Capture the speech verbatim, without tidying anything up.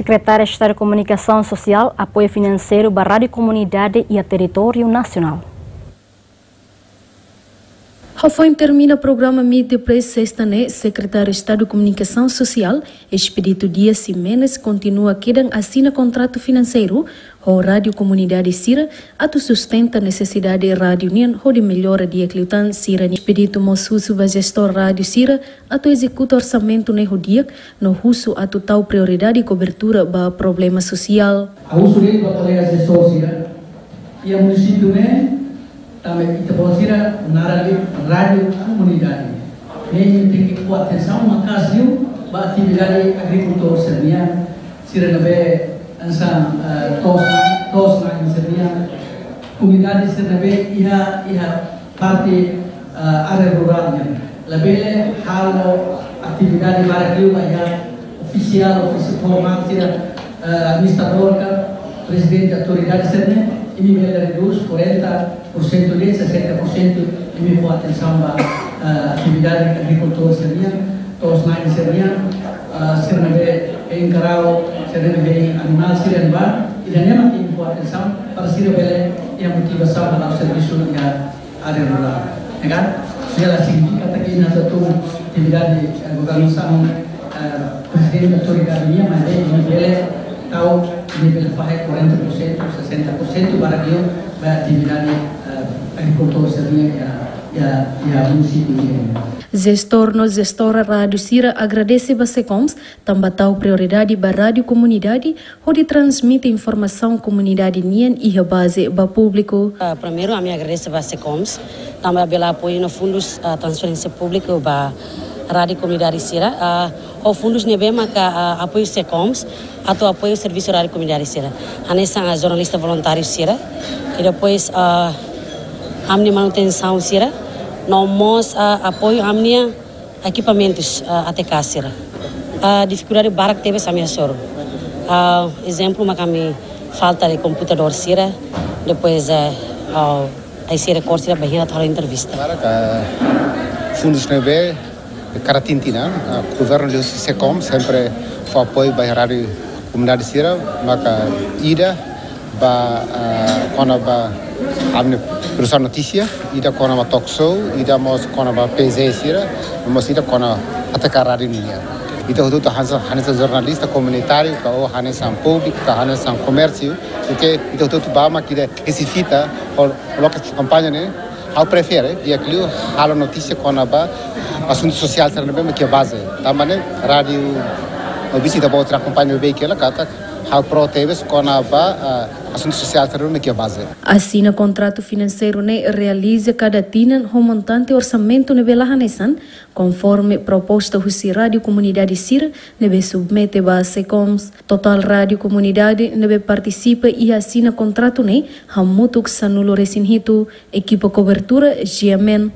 Sekretária Estadu Komunikasaun Sosiál, apoiu finanseiru ba rádiu komunidade iha territóriu nasionál. Hafoin termina programa Meet the Press sesta ne'e, Sekretáriu Estadu Komunikasaun Sosiál, Expedito Dias Ximenes, kontinua kedan asina kontratu finanseiru ho rádiu komunidade sira atu sustenta nesesidade rádiu nian hodi mellora di'ak liután sira-nia. Expedito mós husu ba jestór rádiu sira atu ezekuta orsamentu ne'e ho di'ak, no husu atu tau prioridade kobertura ba problema sosiál. Ha'u husu de'it ba kolega jestór sira, iha munisípiu ne'e, tanba ita-boot sira naran de'it rádiu komunidade. Ne'e ita tenke fó atensaun maka'as liu ba atividade agrikultór sira-nian, sira ne'ebé hanesan, eh, to'os-na'in, to'os-na'in sira-nian. Komunidade sira ne'ebé iha, iha parte, eh, área rurál nian. Labele halo atividade barak liu ba iha ofisiál, ofisiál formál sira, eh, administradór ka prezidente autoridade sira-ne'e, imi bele redús quarenta por cento de'it sessenta por cento, imi fó atensaun ba, eh, atividade agrikultór sira-nian, to'os-na'in sira-nian, eh, sira ne'ebé hein karau, sira ne'ebé hein animál sira-nian ba, ida-ne'e mak imi fó atensaun para sira bele iha motivasaun ba la'o servisu iha área rurál, ya kan? Ne'e la signifika katak ita atu tun atividade, eh, governasaun, eh, prezidente autoridade nian, maibé imi bele tau, imi bele fahe quarenta por cento, sessenta por cento para que ba atividade, eh, agrikultór sira-nian iha, iha, iha munisípiu nian. Jestór no jestora rádiu sira agradese ba SECOMS, tanba tau prioridade ba rádiu komunidade, hodi transmite informasaun komunidade nian iha baze ba públiku. Ah, primeiru, ami agradese ba SECOMS, tanba bele apoiu no fundus, ah, transferénsia públiku ba rádiu komunidade sira. Ah, ho fundus ne'ebé maka, ah, apoiu SECOMS atu apoiu servisu rádiu komunidade sira. Hanesan, ah, jornalista voluntáriu sira. I depois, ah, ami-nia manutensaun sira. No mós, ah, apoiu ami-nia ekipamentus, ah, A T K sira. Ah, difikuldade barak tebes ami hasoru. Ah, ezemplu, mak ami falta de komputadór sira, depois, eh, ah, ai sira kor sira bainhira atu halo entrevista. Barak, ah, fundus ne'ebé kada tinan, ah, governu liuhusi SECOMS sempre fó apoiu ba rádiu komunidade sira, maka ida ba, ah, kona-ba ami-nia produsaun notísia, ida kona-ba talk show, ida mós kona-ba P Z sira, mós ida kona-ba A T K rádiu nian. Ita hotu-hotu hanesan, hanesan jornalista komunitáriu, ka hanesan públiku, ka hanesan komérsiu, porque ita hotu-hotu ba mak ita resifita, ho loke kampaña ne'e, ha'u prefere di'ak liu halo notísia kona-ba asuntu sosiál sira ne'ebé mak iha baze. Tanba ne'e rádiu, no bisi ita-boot sira akompaña beik hela katak ha'u pró tebes kona-ba, ah, asuntu sosiál sira ne'ebé mak iha baze. Asina kontratu finanseiru ne'e realiza kada tinan ho montante orsamentu ne'ebé la hanesan, konforme proposta husi rádiu komunidade sira ne'ebé submete ba SECOMS. Totál rádiu komunidade ne'ebé partisipa iha asina kontratu ne'e hamutuk sanulu-resin-hitu, ekipa kobertura G M N